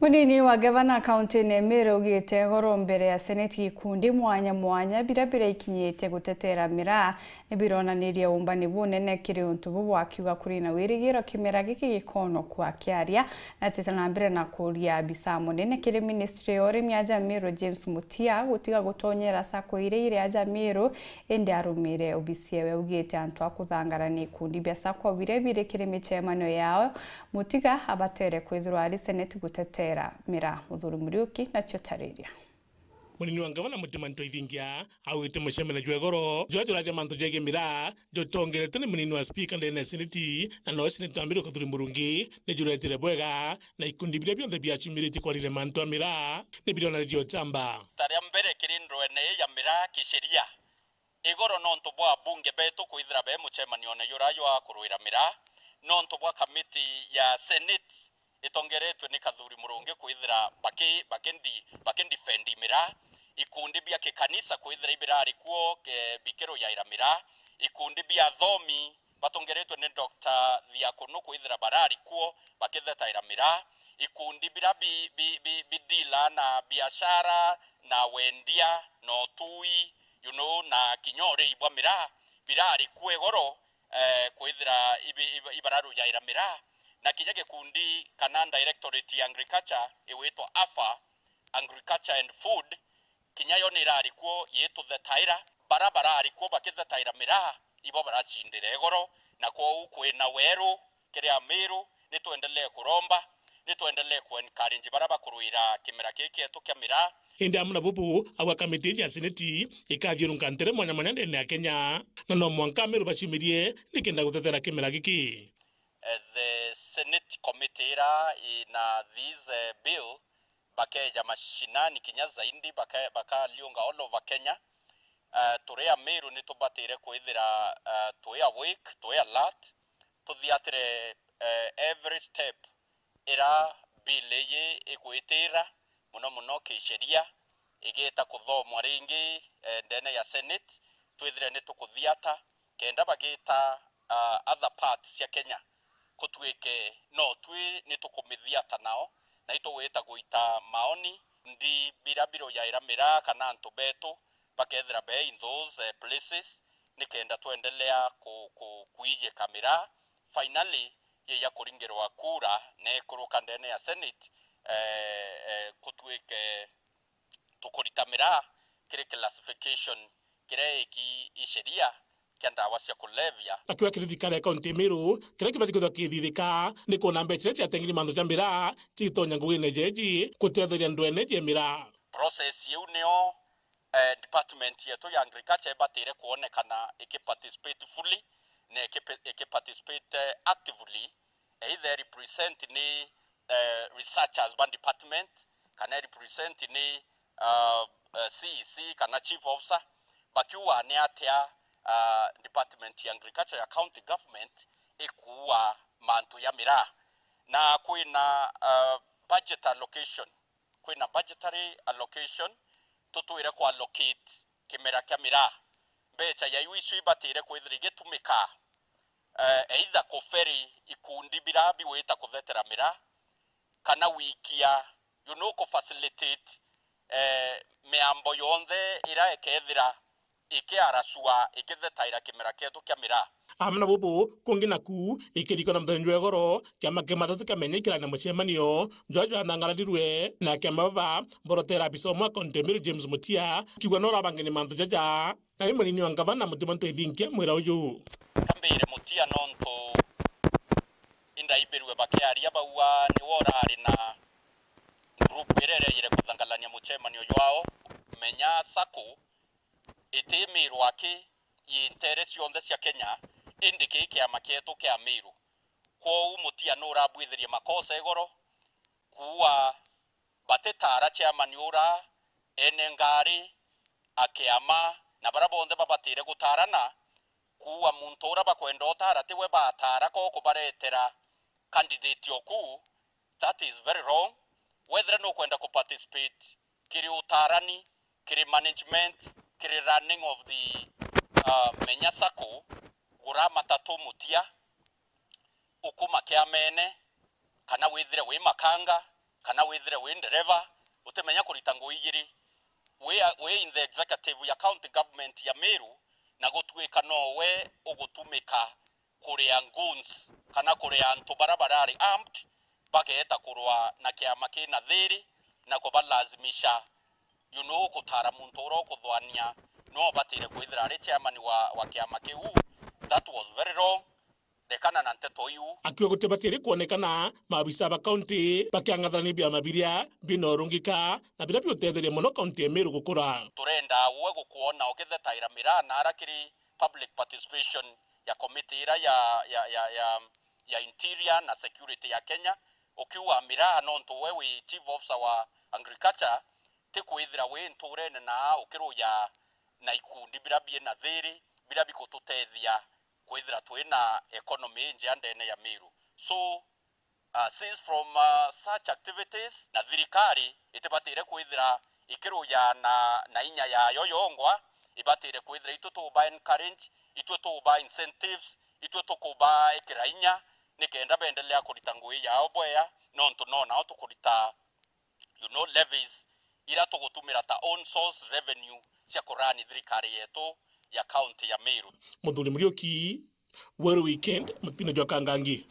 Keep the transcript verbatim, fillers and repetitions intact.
Munini wa gavana kaunti-ini ya Meru augite igoro mbere ya seneti gikundi mwanya mwanya biria biraikinyitie gutetera miraa ni bironanirie umbani bunene kiri untu bubu, akiuga kuri na wirigiro kimera giki gikonokua. Akiaria, natete na mbere na kuria abisa munene kiri ministry ya urimi aja Meru James Mutia gutiga gutonyera sacco iria iri aja Meru, indi arumire obisi ewe. Augite antu a kuthangara ni ikundi bia sacco biria biri kiri micemanio yao, Mutiga abatere kwithirwa ari seneti gutetera miraa. Muthuri Muriuki nacio tariria. Munini wa ngavana Mutima Ntoithingia augite mucemanio jwa igoro juria juraja mantu jegie miraa jutongeretwe ni munini wa spika ndene ya seneti, na noe seneti wa Meru Kathuri Murungi, ni juretire bwega, na ikundi biria bionthe biacumiritie kwarire mantu a miraa ni bironanirie uchamba. Rita ria mbere kiri ndwene ii ya miraa kisheria, igoro nontu bwa abunge betu kwithira be mucemanione jura jwa kurwira miraa, nontu bwa kamiti ya senate itongeretwe ni Kathuri Murungi kwithira baki-, bakindi-, bakindifendi miraa, ikundi bia kikanisa kwithira ibirari kuo ke-, bikirujaira miraa, ikundi bia athomi batongeretwe ni Doctor Thiakunu kwithira barari kuo bakithetaira miraa, ikundi biria bi-, bi-, bi-, bidila na biashara na wendia na utui, you know, na kinya urei bwa miraa birari kuo igoro, eh, kwithira ibi-, ibi-, ibararujaira miraa, na kinya gikundi kana directorate ya agriculture igwitwa AFA, Agriculture and Food, kinya yo ni irari kuo yituthetaira. Bara barari kuo bakithetaira miraa, ibo baracindire igoro, na kwou kwina weru kiri Amiru, ni twendelee kuromba, ni twendelee ku encourage bara bakurwira kimera giki gietu kia miraa. Indi amwe na bubu, agwa kamiti ya seneti ikathiurunka ntere mwanya mwanya ndene ya Kenya, na no mwanka Amiru baciumirie nikenda gutetera kimera giki. Eh, the Senate committee ira ina this, eh, bill, bakeja mashinani kinya zaidi, baka-, bakaliunga all over Kenya. Eh, turi Amiru ni tubatire kwithira, eh, twi awake, twi alert, tuthiatire, eh, every step ira bill iyi igwitira, muno muno kisheria, igita kuthomwa ringi, eh, ndene ya Senate, twithire ni tukuthiata, kenda bagita, ah, other parts cia Kenya, kutwike no twi ni tukumithiata nao, na itugwita guita maoni, ndi bira birujaira miraa kana antu betu bakethira be in those, eh, places, nikenda twendelea ku-, ku-, kuijika miraa. Finally, yija kuringirwa kura na ikuruka ndene ya Senate, eh, eh, kutwike tukurita miraa kiri classification kiria iki i sheria kia ndawa cia kulevya. Akiuga kiri thirikari ya kaunti ya Meru, kiria kibati kwithirwa kithithika ni kwona mbeca iria ciatengiri manthu ja miraa citonya ngugine jeji gutetheria ndwene jia miraa. Process iu nio, eh, department yetu ya agriculture ibatire kwonekana ikiparticipate fully na ikipe-, ikiparticipate, eh, actively, either represent ni, eh, researchers ba department, kana represent ni, ah, eh, C E C kana chief officer, bakiuga ni atia, ah, department ya agriculture ya county government ikuua mantu ya miraa. Na kwina, ah, budget allocation, kwina budgetary allocation, tutwire ku allocate kimera kia miraa. Mbeca ya iu icio ibatire kwithira igitumika, eh, either kuferi ikundi bira bigwita kuthetera miraa, kana wikia, you know, ku facilitate, eh, miambo yonthe ira ikethira ikiaracua ikithetaira kimera kietu kia miraa. Amwe na bubu kungi naku, ikirikana muthenya jwa igoro, kiama kia matatu kia menya ikirania mucemanio jwa jwathangararirwe na kiama baba borotera abisa umwe wa kaunti ya Meru James Mutia, kiuga no urabangene mantu jaja. Nawe munini wa ngavana Mutima Ntoithinkia mwira uju. Kambire Mutia nontu indaibirwe bakiaria bauga niwe urari na group iria irejire kuthangalania mucemanio jwao, Menya Sacco, iti Miru aki, i ntere cionthe cia Kenya, indi kii kiama kietu kia Miru. Kwou Mutia nurabwithirie makosa igoro, kuua batitara chairman ura, ene ngari, akiama, na bara bonthe babatire gutarana, kuua muntu ura bakwenda utara tiwe batara ko kubaretera candidate oku, that is very wrong. Wethira nukwenda ku participate kiri utarani, kiri management, kiri running of the, uh, Menya Sacco, gura matatu Mutia, ukuma kiamene, kana withire wi makanga, kana withire wi ndereva, utimenya kurita ngui igiri, wi, wi in the executive ya county government ya Meru, na gutuika nowe ugutumika kuria goons kana kuria antu bara barari armed, bageeta kurwa na kiama kina thiri na kubalazimisha, you know, gutara muntu uria ukuthwania no batire kwithira ari chairman wa, wa kiama kiu. That was very wrong. Rekana na nteto iu. Akiuga gutibatiri kwonekana maabisa ba kaunti bakiang'athania biama biria bina urungika na biria biutetheria mono kaunti ya Meru gukura. Turenda we gukwona ugithetaira miraa na ara kiri public participation ya committee ira ya, ya, ya, ya, ya interior na security ya Kenya, ukiuga miraa nontu we wi chief officer wa agriculture, ti kwithira wi nturene na ukiruja na ikundi bira bina thiri, bira bigututethia kwithira twina economy injea ndene ya Meru. So, uh, cease from, uh, such activities, na thirikari itibatire kwithira ikiruja na, na inya yayo yongwa, ibatire kwithira itwe tuba encourage, itwe tuba incentives, itwe tukuba ikira inya, nikenda bendelea kurita ngui yao bwea, nontu no nao tukurita, you know, levies ira tugutumira ta own source revenue cia kurani thirikari yetu ya county ya Meru. Muthuri Muriuki, Weru Weekend, mutine jwa Kangangi.